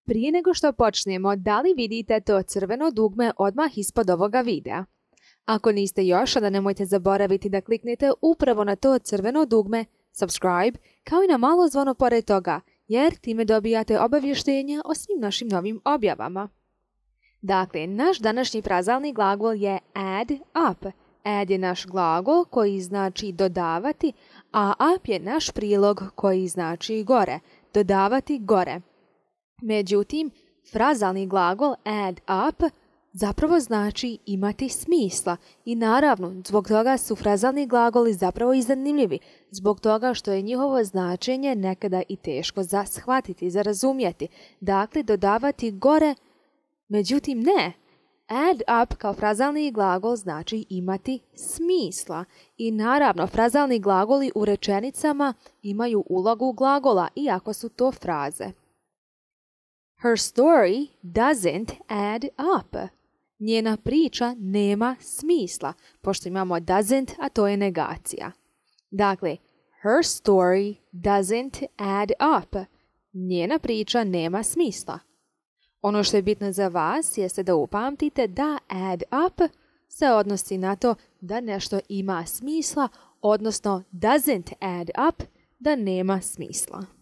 Prije nego što počnemo, da li vidite to crveno dugme odmah ispod ovoga videa? Ako niste još, onda nemojte zaboraviti da kliknete upravo na to crveno dugme subscribe, kao i na malo zvono pored toga, jer time dobijate obavještenja o svim našim novim objavama. Dakle, naš današnji frazalni glagol je add up. Add je naš glagol koji znači dodavati, a up je naš prilog koji znači gore, dodavati gore. Međutim, frazalni glagol add up zapravo znači imati smisla i naravno, zbog toga su frazalni glagoli zapravo i zanimljivi, zbog toga što je njihovo značenje nekada i teško za shvatiti, za razumjeti. Dakle, dodavati gore, međutim ne. Add up kao frazalni glagol znači imati smisla. I naravno, frazalni glagoli u rečenicama imaju ulogu glagola, iako su to fraze. Her story doesn't add up. Njena priča nema smisla, pošto imamo doesn't, a to je negacija. Dakle, her story doesn't add up. Njena priča nema smisla. Ono što je bitno za vas jeste da upamtite da add up se odnosi na to da nešto ima smisla, odnosno doesn't add up, da nema smisla.